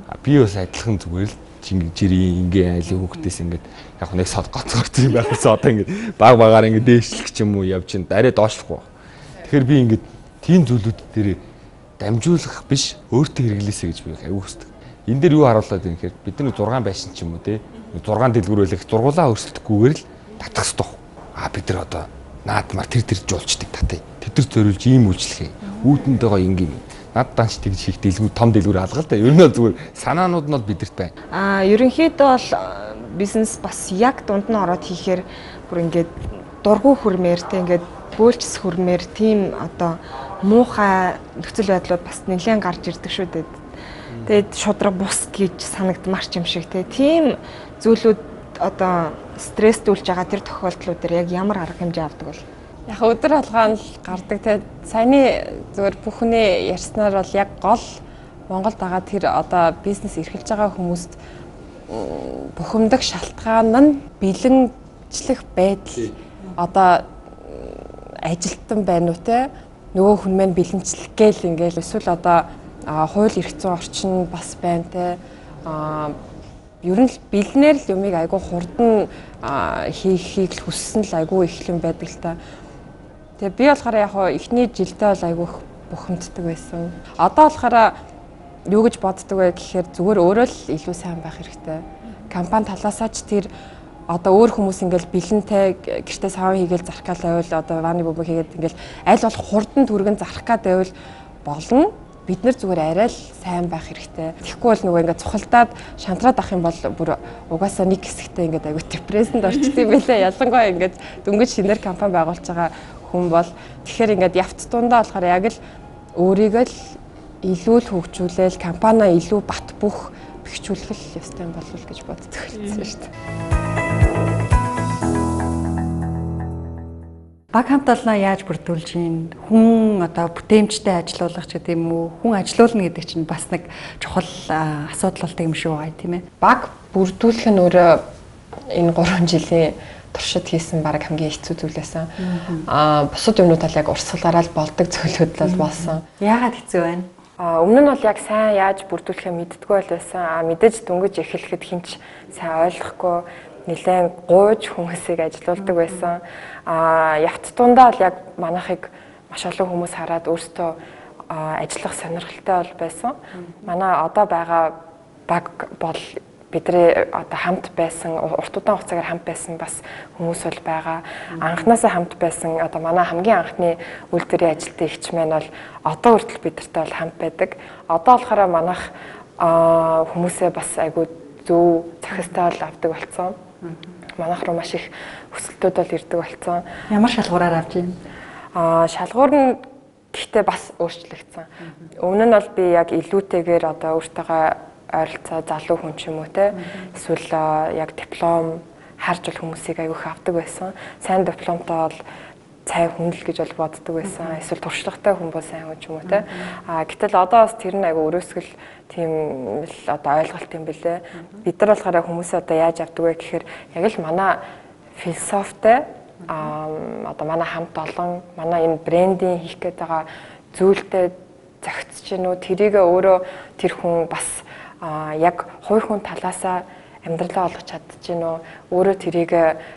А би бас адилхан зүгээр л жирийн ингээ айлын хүүхдээс ингээд яг нэг сод гоцгорч юм байх гэсэн одоо ингээд баг багаар ингээд дээшлэх ч юм уу явж ин арай доошлохгүй. Тэгэхээр би ингээд тийм зүйлүүд дээр дамжуулах биш өөртөө хэрэглээсэй гэж би аягүй хүсдэг. Энэ дээр юу харуулдаг юм гэхээр бид нар зургаан байшин ч юм уу те зургаан дэлгүүр байлах зургуулаа өрсөлдөхгүйгээр л татах хэрэгтэй. А бид нар одоо наадмаар тэр тэр жуулчдаг татъя. Тэд нар зориулж ийм үйлчлэхээ. Үүдэндээ ингийн над данч тэгж хийх дэлгүүр том дэлгүүр алга л да. Ер нь бол зүгээр санаанууд нь бол бидэрт байна. Аа ерөнхийдөө бол бизнес бас яг дунд нь ороод хийхээр бүр ингээд дургу хөрмээр те ингээд бөөлчс хөрмээр тийм одоо муухай нөхцөл байдлууд бас нэлээд гарч ирдэг шүү дээ. Тэгээд шудраг бус гэж санагдмаар ч юм шиг те тийм зүйлүүд одоо стресстүүлж байгаа тэр тохиолдлууд дээр яг ямар арга хэмжээ авдаг бол яг өдөр алгаан л гардаг те саяны зүгээр бүхний ярьснаар бол яг гол Монголд байгаа тэр одоо бизнес эрхэлж байгаа хүмүүст бухимдах шалтгаан нь бэлэнчлэх байдал одоо ажилтан байна уу те нөгөө хүн маань бэлэнчлэх гээл ингээл эсвэл одоо хууль эрх зүйн орчин бас байна те ер нь л бэлнээр л юмыг айгүй хурдан хийхийг л хүссэн л айгүй их юм байдаг л та. Тэгээ би болохоор яг хоо эхний жилдээ бол айгүй бухимддаг байсан. Одоо болохоор юу гэж боддог вэ гэхээр зүгээр өөрөө л илүү сайн байх хэрэгтэй. Компани талаасаа ч тэр одоо өөр хүмүүс ингээл бэлэнтэй гэртээ сав хийгээл зарах гал байвал одоо ваны бөмбөг хийгээд ингээл аль болох хурдан түргэн зарах гад байвал болно. Бид нар зүгээр арай л сайн байх хэрэгтэй. Тэгэхгүй бол нөгөө ингээд цухалдаад шантраад ах юм бол бүр угаасаа нэг хэсэгтээ ингээд аягүй депрессэнд орчдөг юм байлаа. Ялангуяа ингээд дөнгөж шинээр компани байгуулж байгаа хүн бол тэгэхээр ингээд явц дундаа болохоор яг л өөрийгөө л илүү л хөгжүүлээл компаниа илүү бат бөх бэхжүүлэх л ёстой юм болов гэж боддог хэлсэн шүү дээ. Баг хамт олноо яаж бүрдүүлж ийн хүн одоо бүтээмжтэй ажилуулах ч гэдэг юм уу хүн ажилуулна гэдэг чинь бас нэг чухал асуудал болдог юм шүү байгаа тийм ээ. Баг бүрдүүлэх нь өөрөө энэ гурван жилийн туршид хийсэн баг хамгийн хэцүү зүйл байсан. Аа бусад юмнууд тал яг урсгалаараа л болдог зүйлүүд л болсон. Яагаад хэцүү байна? А өмнө нь бол яг сайн яаж бүрдүүлэхээ мэддэггүй бол байсан. А мэдээж дөнгөж эхлэхэд хинч сайн ойлгохгүй нэлээд гууж хүмүүсийг ажилуулдаг байсан. А явц дундаа л яг манайхыг маш олон хүмүүс хараад өөртөө ажиллах сонирхолтой бол байсан. Манай одоо байгаа баг бол бидний одоо хамт байсан, урт удаан хугацаагаар хамт байсан бас хүмүүс бол байгаа. Анхнаасаа хамт байсан одоо манай хамгийн анхны үйлдвэрийн ажилтны эгч маань бол одоо хүртэл бидэртэй бол хамт байдаг. Одоо болохоор манайх хүмүүсээ бас айгүй зөв захистай бол авдаг болсон. Манайх руу маш их өсөлтүүд бол ирдэг болсон. Ямар шалгуураар авч юм? Аа шалгуур нь гэхдээ бас өөрчлөгдсөн. Өмнө нь бол би яг илүүтэйгээр одоо өөртөөгөө ойролцоо залуу хүн ч юм уу те эсвэл яг диплом харж бол хүмүүсийг аягүй их авдаг байсан. Сайн дипломтой бол цай хүндэл гэж бол боддог байсан. Эсвэл туршлагатай хүн бол сайн хүн ч юм уу те. А гэтэл одоо бас тэр нь аягүй өрөөсгөл тийм л одоо ойлголт юм бэлээ. Бид нар болохоор хүмүүсээ одоо яаж авдаг вэ гэхээр яг л манай философитой а одоо манай хамт олон манай энэ брендинг хийх гээд байгаа зүйлтэй зохицож гинүү тэрийг өөрөө тэр хүн бас а яг хувь хүн талаасаа амьдралаа олгож чадчихэв өөрөө тэрийг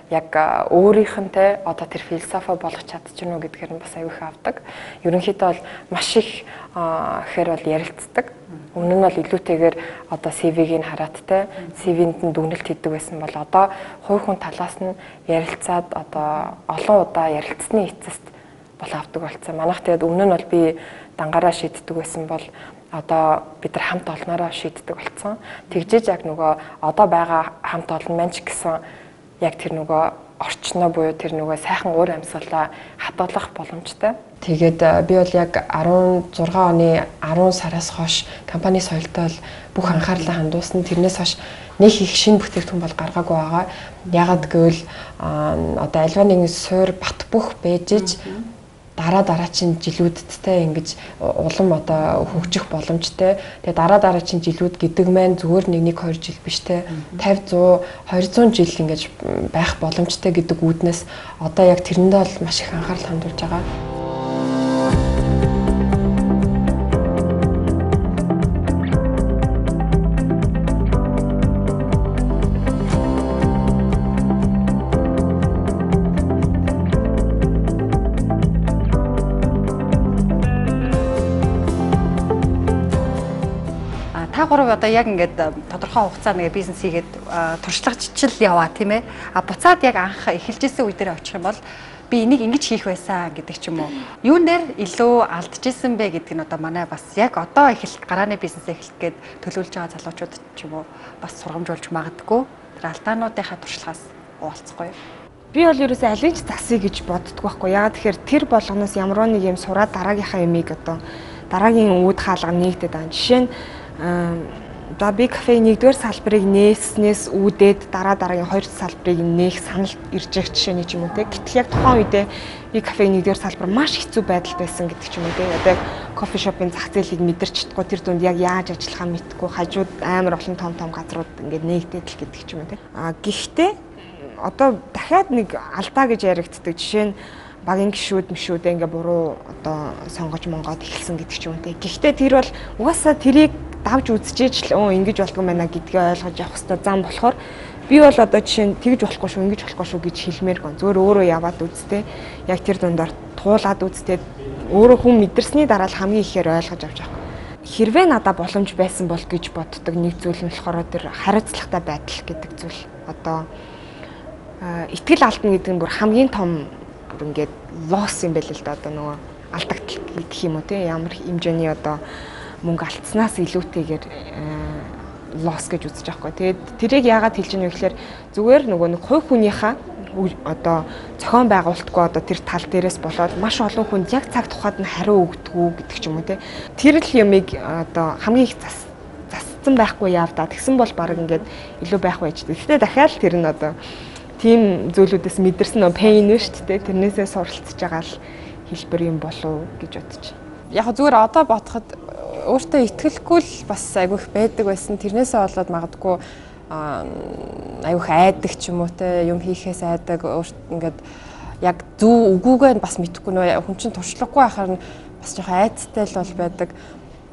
яг өөрийнх нь те одоо тэр философи болгож чадчихэв гэдгээр нь бас аягүй их авдаг. Ерөнхийдөө бол маш их гэхээр бол ярилцдаг. Өмнө нь бол илүүтэйгээр одоо си ви-г хараад те си ви-нд нь дүгнэлт хийдэг байсан бол одоо хувь хүн талаас нь ярилцаад одоо олон удаа ярилцсны эцэст бол авдаг болсон. Манайх тэгээд өмнө нь бол би дангаараа шийддэг байсан бол одоо бид нар хамт олноороо шийддэг болсон. Тэгжээж яг нөгөө одоо байгаа хамт олон маань ч гэсэн яг тэр нөгөө орчноо буюу тэр нөгөө сайхан уур амьсгалаа хадгалах боломжтой. Тэгээд би бол яг арван зургаан оны арван сараас хойш компани соёлтой бүх анхаарлаа хандуулсан. Тэрнээс хойш нэг их шинэ бүтээгдэхүүн бол гаргаагүй байгаа. Ягаад гэвэл одоо альва нэгэн суур бат бөх бэжж дараа дараагийн жилүүдтэй ингэж улам одоо хөгжих боломжтой. Тэгээ дараа дараагийн жилүүд гэдэг маань зүгээр нэг нэг хоёр жил биш те тавьд зуун хоёрзуун жил ингэж байх боломжтой гэдэг үүднээс одоо яг тэрэндээ бол маш их анхаарал хандуулж байгаа. Гурав одоо яг ингээд тодорхой хугацаанд ингээд бизнес хийгээд туршлагачил яваа тийм ээ. А буцаад яг анх эхэлжсэн үе дээр очих юм бол би энийг ингэж хийх байсан гэдэг ч юм уу. Юун дээр илүү алдчихсан бэ гэдэг нь одоо манай бас яг одоо эхэлэх гарааны бизнес эхлэх гээд төлөвлөж байгаа залуучууд ч юм уу бас сургамжуулж магадгүй. Тэр алдаануудынхаа туршлагаас уулзахгүй. Би бол ерөөсөө аль ч засъя гэж боддог байхгүй. Яагаад тэгэхээр тэр болгоноос ямар нэг юм сураад дараагийнхаа ямиг одоо дараагийн үүд хаалга нэгдэд байгаа. Жишээ нь за би кафе нэгдүгээр салбарыг нээснээс үүдээд дараа дараагийн хоёр салбарыг нээх санал ирж байгаа жишээний ч юм уу те. Гэтэл яг тухайн үедээ би кафегийн нэгдүгээр салбар маш хэцүү байдал байсан гэдэг ч юм уу те. Одоо кофе шопын зах зээлийг мэдэрч чадахгүй тэр дунд яг яаж ажиллахаа мэдгүй хажууд амар олон том том газрууд ингээд нээгдээд л гэдэг ч юм уу те. А гэхдээ одоо дахиад нэг алдаа гэж яригддаг жишээ нь багийн гişүүд мшүүдээ ингээ буруу одоо сонгож монгоод эхэлсэн гэдэг ч юм те. Гэхдээ тэр бол угаасаа тэрийг давж үзчихэж л өө ингэж болгоом байна гэдгээ ойлгож явах хэрэгтэй зам болохоор би бол одоо жишээ нь тэгж болохгүй шүү ингэж болохгүй шүү гэж хэлмээр гон зөвөр өөрөө яваад үзтээ яг тэр дундаар туулаад үзтээ өөрөө хүн мэдэрсний дараа л хамгийн ихээр ойлгож авч байгаа. Хэрвээ надад боломж байсан бол гэж боддог нэг зүйл нь болохоор тэр хариуцлагатай байдал гэдэг зүйл одоо итгэл алдна гэдэг нь бүр хамгийн том ингээд лосс юм байл л да одоо нөгөө алдагдал гэх юм уу те ямар хэмжээний одоо мөнгө алдснаас илүүтэйгээр лосс гэж үзэж байгаа хгүй. Тэгээд тэрийг яагаад хэлж ийнэ вэ гэхээр зүгээр нөгөө нэг хувь хүнийхээ одоо зохион байгуулалтгүй одоо тэр тал дээрээс болоод маш олон хүнд яг цаг тухайд нь хариу өгдөггүй гэдэг ч юм уу те. Тэр л юмыг одоо хамгийн их зас засцсан байхгүй яав да. Тэгсэн бол баг ингээд илүү байх байж. Гэхдээ дахиад тэр нь одоо тийм зүйлүүдээс мэдэрсэн нөө пейн вэ шүү дээ. Тэрнээсээ суралцж байгаа л хэлбэр юм болов гэж бодож байна. Яг зүгээр одоо бодоход өөртөө итгэлгүй л бас айгүйх байдаг байсан. Тэрнээсээ болоод магадгүй айгүйх айдаг ч юм уу те юм хийхээс айдаг өөрт ингээд яг зөв үгүйгээ бас мэдэхгүй нөө хүн чинь туршлагагүй байхаар нь бас жоохон айцтай л бол байдаг.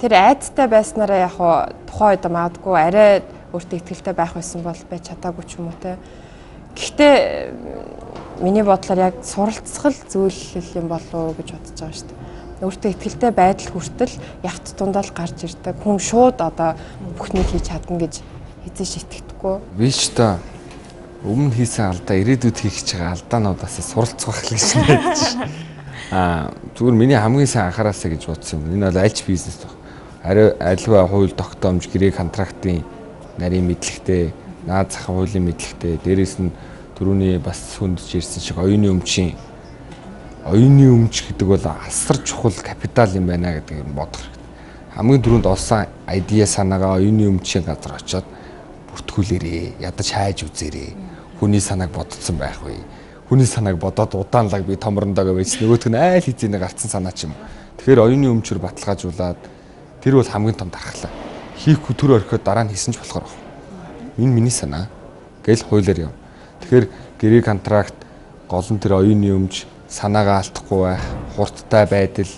Тэр айцтай байснараа яг тухайн үед магадгүй арай өөртөө итгэлтэй байх байсан бол байж чадаагүй ч юм уу те. Гэхдээ миний бодлоор яг суралцах л зүйл юм болов уу гэж бодож байгаа шүү дээ. өөртөө ихтэй байдал хүртэл ягт тундаа л гарч ирдэг. Хүн шууд одоо бүхнийг хийж чадна гэж эзэж итгэдэггүй. Би ч та өмнө хийсэн алдаа ирээдүйд хийх гэж байгаа алдаануудаас суралцах гэж найдаж байна. Аа зүгээр миний хамгийн сайн анхаараасаа гэж бодсон юм. Энэ бол аль ч бизнес баг. Ари альва хууль тогтоомж гэрээ контрактын нарийн мэдлэгтэй, наад зах хуулийн мэдлэгтэй, дээрээс нь түрүүний бас хүндж ирсэн шиг оюуны өмчийн оюуны өмч гэдэг бол асар чухал капитал юм байна гэдэг нь бодох хэрэгтэй. Хамгийн түрүүнд олсон айдиа санаагаа оюуны өмчийн газар очиод бүртгүүлээрээ, ядаж хайж үзээрээ. Хүний санааг бодсон байх вэ? Хүний санааг бодоод удаанлаг би томрондоо байж нөгөөтг нь айл хизээний гарцсан санаа ч юм. Тэгэхээр оюуны өмчөр баталгаажуулаад тэр бол хамгийн том дархлаа. Хийхгүй төр орхиод дараа нь хийсэн ч болохоор байна. Энэ миний санаа гэл хуулиар юм. Тэгэхээр гэрээ контракт гол нь тэр оюуны өмч санаагаа алдахгүй байх, хурдтай байдал.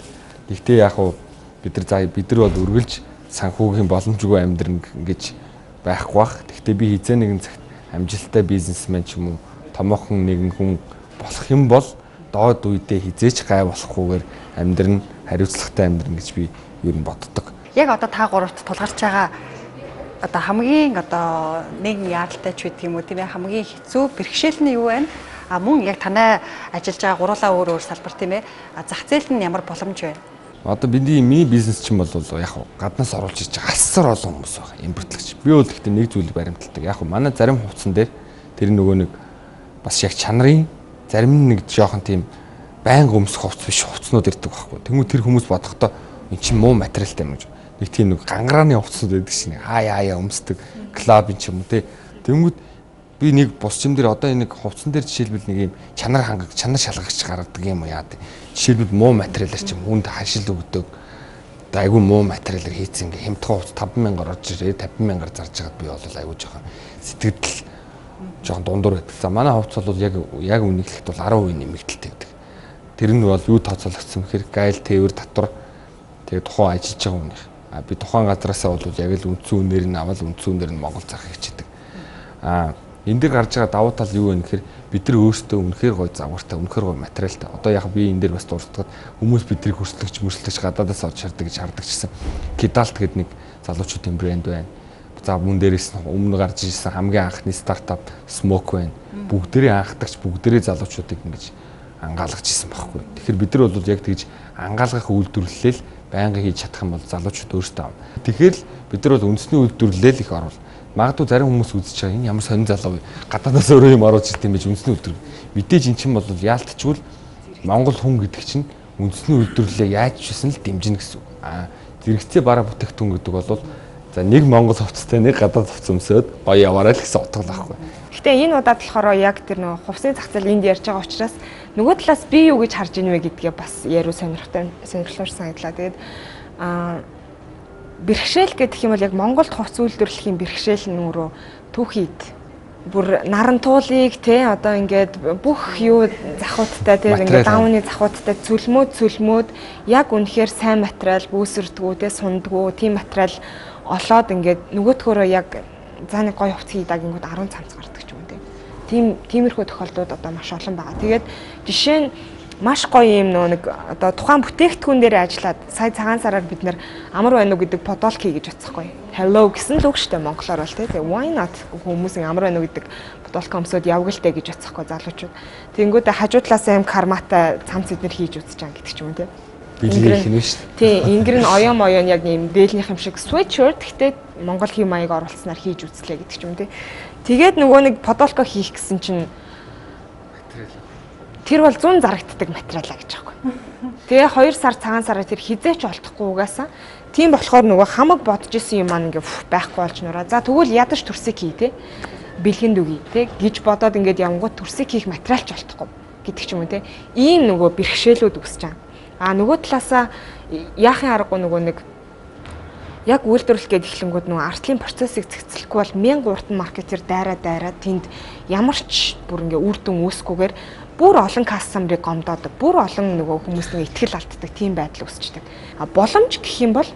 Гэхдээ яг уу бид нар за бид нар бол үргэлж санхүүгийн боломжгүй амьдрын гэж байхгүй бах. Гэхдээ би хизээ нэгэн цагт амжилттай бизнесмен ч юм уу томоохон нэгэн хүн болох юм бол доод үедээ хизээч гай болохгүйгээр амьдрын хариуцлагатай амьдрын гэж би ер нь боддог. Яг одоо та гуравт тулгарч байгаа одоо хамгийн одоо нэгэн яаралтай ч гэдэг юм уу тийм ээ хамгийн хэцүү бэрхшээл нь юу вэ? А мөн яг танай ажиллаж байгаа гурлаа өөр өөр салбар тийм ээ зах зээл нь ямар боломж вэ? Одоо бидний миний бизнес чинь бол яг гаднаас оруулж ирж байгаа асар олон хүмүүс байна. Импортлогч. Би бол гэхдээ нэг зүйлийг баримталдаг. Яг манай зарим хувцсан дээр тэр нөгөө нэг бас яг чанарын зарим нэг жоохон тийм байнга өмсөх хувцс биш хувцснууд ирдэг байхгүй. Тэнгүү тэр хүмүүс бодохдоо эн чинь муу материалтай юм гэж. Нэг тийм нэг гангарааны хувцснууд байдаг шин. Хаа яа өмсдөг клаб юм ч юм уу те. Тэнгүүд би нэг бусчим дээр одоо энэ нэг хувцсан дээр жишээлбэл нэг юм чанар хангах, чанар шалгагч гаргадаг юм уу яа. Жишээлбэл муу материалаар ч юм хүнд хашил өгдөг. Айгүй муу материалаар хийцэн ингээ хямдхан хувц таван мянгаар орж ирээ тавин мянгаар зарж байгаад би бол айгүй жоохон сэтгэл жоохон дундуур байдаг. За манай хувц бол яг яг үнэхээр бол арван хувийн нэмэгдэлтэй байдаг. Тэр нь бол юу тооцоологдсон гэхээр гайл тээвэр татвар тэгээ тухайн ажиллаж байгаа хүнийх. А би тухайн газараасаа бол яг л үндсэн үнээр нь аваад үндсэн үнээр нь Монгол зарах хичээдэг. А энэ дээр гарч байгаа давуу тал юу вэ гэхээр бид нар өөрсдөө үнэхээр гоё загвартай, үнэхээр гоё материалтай. Одоо яг би энэ дээр бас дурддаг хүмүүс бидний хөрслөгч, мөрслөгч гадаадаас орж шардаг гэж хардаг гэсэн. Kidalt гэдэг нэг залуучуудын брэнд байна. За мөн дээрээс нь өмнө гарч ирсэн хамгийн анхны стартап Smoke байна. Бүгдээрээ анхдагч, бүгдээрээ залуучуудыг ингэж ангаалгаж ирсэн байхгүй. Тэгэхээр бид нар бол яг тэгж ангаалгах үйлдвэрлэлэл байнга хийж чадах юм бол залуучууд өөрсдөө авна. Тэгэхээр л бид нар бол үндэсний үйлдвэрлэлэл их оруулна. Магадгүй зарим хүмүүс үзэж байгаа энэ ямар сонин залуу вэ? Гадаадаас өөрөө юм оруулж ирт юм биш үндэсний үйлдвэрлэл. Мэдээж эн чинь бол яалтчгүй Монгол хүн гэдэг чинь үндэсний үйлдвэрлэлээ яаж ч гэсэн л дэмжинэ гэсэн. Аа зэрэгцээ бараа бүтээгдэхүүн гэдэг бол за нэг Монгол хувцастай нэг гадаад хувцас өмсөд гоё яваарай л гэсэн утга л байхгүй. Гэхдээ энэ удаад болохоор яг тэр нөгөө хувцсны зах зээл энд ярьж байгаа учраас нөгөө талаас би юу гэж харж ийн вэ гэдгээ бас яруу сонирхолтой сонирхолтой санагдлаа. Тэгээд аа бэрхшээл гэдэг юм бол яг Монголд хувцс үйлдвэрлэхийн бэрхшээл нь өөрөө түүхийд бүр нарантуулыг те одоо ингээд бүх юу захуудтай те ингээд давны захуудтай цөлмөөд цөлмөөд яг үнэхээр сайн материал бүүсэрдгүү те сундгүү тийм материал олоод ингээд нөгөөдгөөрөө яг за нэг гоё хувцс хийдэг ингээд арван цамц гардаг ч юм уу те. Тийм тиймэрхүү тохиолдлууд одоо маш олон байгаа. Тэгээд жишээ нь маш гоё юм нөө нэг одоо тухайн бүтээгдэхүүн дээр ажиллаад сая цагаан сараар бид нэр амар байна уу гэдэг подолк хийж утсахгүй. Hello гэсэн л үг штэ монголоор бол тэгээ why not хүмүүсийн амар байна уу гэдэг подолк өмсөд явгалтай гэж утсахгүй залуучууд. Тэнгүүдээ хажуу талаасаа юм карматай цамц эднэр хийж үзэж байгаа гэдэг ч юм уу те. Билгэрх юм шүү дээ. Тий, ингэр нь оён моён яг юм дээлнийх юм шиг sweatshirt гэхдээ монгол хэв маяг оруулснаар хийж үзлээ гэдэг ч юм те. Тэгээд нөгөө нэг подолко хийх гэсэн чинь тэр бол зүүн зарагддаг материалаа гэж байгаа юм. Тэгээ хоёр сар цагаан сараа тэр хизээч олдохгүй угаасаа. Тийм болохоор нөгөө хамаг бодож исэн юм маань ингээ байхгүй болж нураа. За тэгвэл ядаж төрсийг хий те. Бэлгэнд үгүй те гэж бодоод ингээд явангууд төрсийг хийх материалч олдохгүй гэдэг ч юм уу те. Ийм нөгөө бэрхшээлүүд үүсэж байгаа. А нөгөө талаасаа яахын аргагүй нөгөө нэг яг үйлдвэрлэх гээд эхлэнгүүд нөгөө артлын процессыг цэгцлэхгүй бол мянга уртан маркетер дайраа дайраа тэнд ямар ч бүр ингээ үр дүн үүсгүйгээр бүр олон кастомерыг гомдоодог, бүр олон нөгөө хүмүүсийн итгэл алддаг тийм байдал үүсчдэг. А боломж гэх юм бол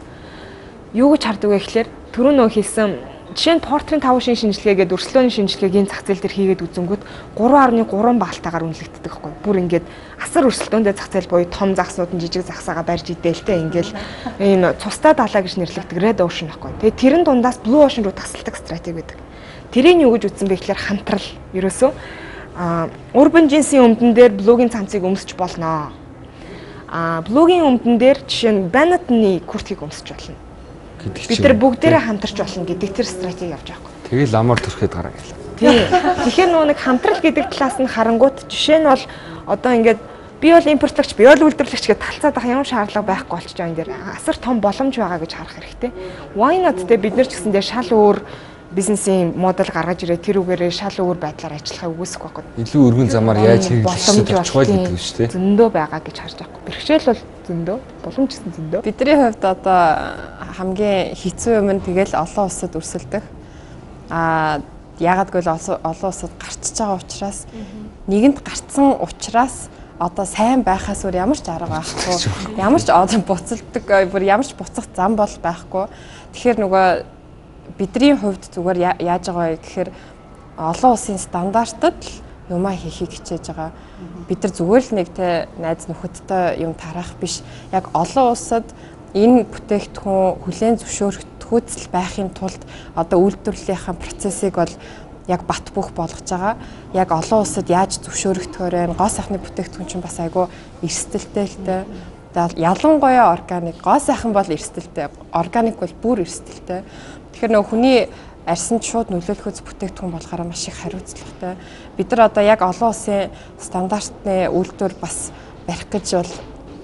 юу гэж хардаг вэ гэхээр түрүү нөө хэлсэн жишээ нь портрийн таван шин шинжилгээгээд өрсөлдөөний шинжилгээгийн зах зээл дээр хийгээд үзэнгүүт гурван арван гурван баалтаагаар үнэлэгддэг байхгүй. Бүр ингээд асар өрсөлдөөндөө зах зээл буюу том загсууд нь жижиг загсаагаа барьж идэлтэй ингээл энэ цустай далаа гэж нэрлэгдэг red ocean байхгүй. Тэгээ тэрэн дундаас blue ocean руу тасалдаг стратеги байдаг. Тэрийг юу гэж үзсэн бэ гэхээр хамтрал. Ерөөсөө а урбан жинсийн өмдөн дээр блугийн цамцыг өмсөж болно. А блугийн өмдөн дээр жишээ нь банатны курткийг өмсөж болно. Бид нар бүгдээрээ хамтарч болно гэдэг тэр стратеги явж байгаа юм. Тэгээ ламор төрөхөд гараа гэлээ. Тийм. Тэгэхээр нөгөө нэг хамтрал гэдэг талаас нь харангуут жишээ нь бол одоо ингээд би бол импортлагч, би бол үйлдвэрлэгч гэж талцаад ах ямар шаардлага байхгүй болчих жоо энэ дээр асар том боломж байгаа гэж харах хэрэгтэй. Why not те бид нар ч гэсэн дээр шал өөр бизнесийн модель гаргаж ирээ тэр үгээрээ шал өөр байдлаар ажиллахыг үгүйсэх байхгүй. Илүү өргөн замаар яаж хийх боломж болчихвол гэдэг шүү дээ. Зөндөө байгаа гэж харж байгаа. Бэрхшээл бол зөндөө, боломж гэсэн зөндөө. Бидний хувьд одоо хамгийн хэцүү юм нь тэгэл олон улсад өрсөлдөх. Аа яагаад гэвэл олон улсад гарчиж байгаа учраас нэгэнд гарцсан учраас одоо сайн байхаас өөр ямар ч арга байхгүй. Ямар ч одоо буцалдаг, бүр ямар ч буцах зам бол байхгүй. Тэгэхээр нөгөө бидний хувьд зүгээр яаж байгаа вэ гэхээр олон улсын стандартад л юмаа хийхийг хичээж байгаа. Бид нар зүгээр л нэг те найз нөхөдтэй юм тарах биш. Яг олон улсад энэ бүтээгдэхүүн хүлээн зөвшөөрөгдөхүйцэл байхын тулд одоо үйлдвэрлэлийнхаа процессыг бол яг бат бөх болгож байгаа. Яг олон улсад яаж зөвшөөрөгдөхөөр вэ? Гоо сайхны бүтээгдэхүүн чинь бас айгүй эрсдэлтэй л те. Ялангуяа органик, гоо сайхан бол эрсдэлтэй. Органик бол бүр эрсдэлтэй. Тэгэхээр нөгөө хүний арьсанд шууд нөлөөлөхөц бүтээгдэхүүн болохоор маш их хариуцлагатай. Бид нар одоо яг олон улсын стандартны үйлдвэр бас барих гэж бол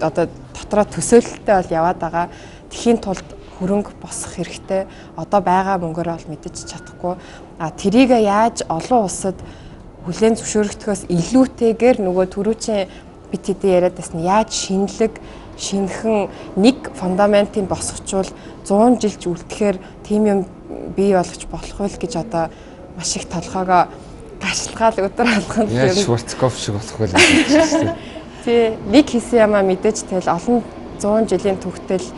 одоо дотроо төсөөлөлтөй бол яваад байгаа. Тэхийн тулд хөрөнгө босох хэрэгтэй. Одоо байгаа мөнгөөр бол мэдэж чадахгүй. А тэрийг яаж олон улсад хүлээн зөвшөөрөгдөхөөс илүүтэйгээр нөгөө түрүүчийн бид хэдий яриад байсан яаж шинэлэг шинхэн нэг фундаментын босгочвол зуун жилч үлдэхээр тийм юм бий болгож болох байл гэж одоо маш их толгоогоо гашилгаал өдөр алганд яаж Шварцкопф шиг болох байл гэж. Тий, нэг хэсэг ямаа мэдээж тэгэл олон зуун жилийн түүхтэл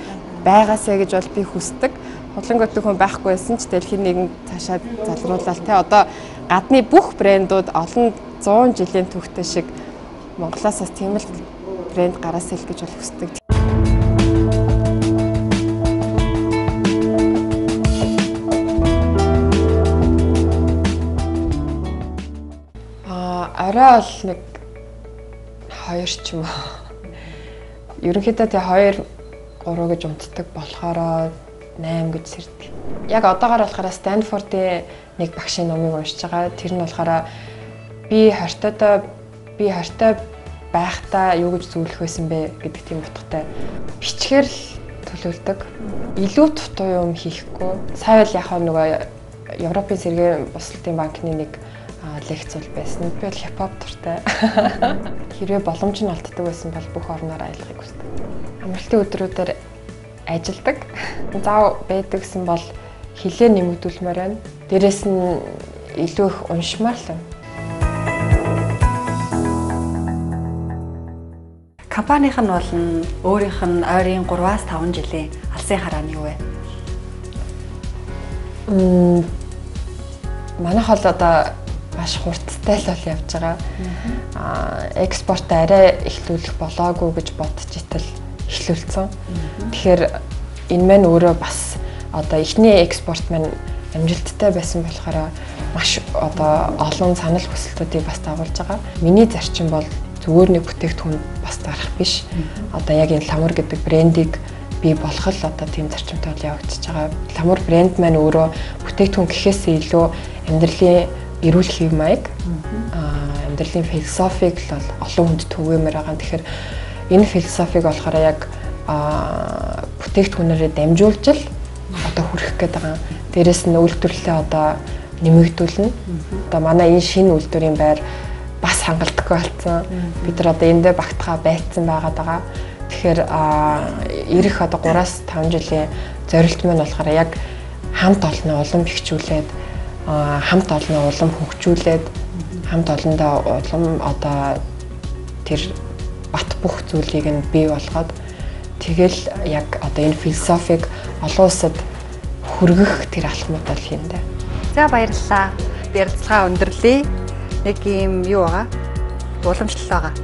байгаасаа гэж бол би хүсдэг. Худлангуудтай хүн байхгүй байсан ч тэгэл хин нэгэн цаашаа залруулаад те одоо гадны бүх брэндүүд олон зуун жилийн түүхтэй шиг Монголоос бас тийм л брэнд гараасаа л гэж бол хүсдэг. Аа, орой бол нэг хоёр ч юм уу. Ерөнхийдөө тий хоёр гурав гэж унтдаг болохоор найм гэж сэрдэг. Яг одоогоор болохоор Стэнфордын нэг багшийн номыг уншиж байгаа. Тэр нь болохоор би хортой би хортой байхдаа юу гэж зөвлөх байсан бэ гэдэг тийм утгатай. Бичгээр л төлөвлөдөг. Илүү дутуу юм хийхгүй. Сая л яг нөгөө Европын сэргээн бусалтын банкны нэг лекц бол байсан. Би бол хипхоп дуртай. Хэрвээ боломж нь олддог байсан бол бүх орноор аялахыг хүсдэг. Амралтын өдрүүдээр ажилдаг. Зав байдаг гэсэн бол хилээ нэмэгдүүлмээр байна. Дээрээс нь илүү их уншмаар л байна. Компанийнх нь бол өөрийнх нь ойрын гураваас таван жилийн алсын харааны юу вэ? Мм манайх бол одоо маш хурдтай л бол явж байгаа. Аа экспорт арай эхлүүлэх болоогүй гэж бодож итэл эхлүүлсэн. Тэгэхээр энэ маань өөрөө бас одоо эхний экспорт маань амжилттай байсан болохоор маш одоо олон санал хүсэлтүүдийг бас дагуулж байгаа. Миний зарчим бол зүгээр нэг бүтээгдэхүүн бас дарах биш. Одоо яг энэ ламур гэдэг брендийг бий болгох л одоо тийм зарчимтай бол явагдаж байгаа. Ламур брэнд маань өөрөө бүтээгдэхүүн гэхээсээ илүү амьдралын эрүүл хэв маяг, аа амьдралын философиг л олон хүнд түгээмээр байгаа. Тэгэхээр энэ философиг болохоор яг аа бүтээгдэхүүнээрээ дамжуулж л одоо хүрэх гээд байгаа. Дээрээс нь үйлдвэрлэлээ одоо нэмэгдүүлнэ. Одоо манай энэ шинэ үйлдвэрийн байр бас хангалтгүй болсон. Бид нар одоо эндээ багтахаа байцсан байгаад байгаа. Тэгэхээр ирэх одоо гураас таван жилийн зорилт маань болохоор яг хамт олноо улам бэхжүүлээд хамт олноо улам хөгжүүлээд хамт олондоо улам одоо тэр бат бүх зүйлийг нь бий болгоод тэгэл яг одоо энэ философиг олон улсад хүргэх тэр алхмууд бол хийндэ. За баярлалаа. Ярилцлага өндөрлөе. Нэг юм юу байгаа? Уламжлал байгаа.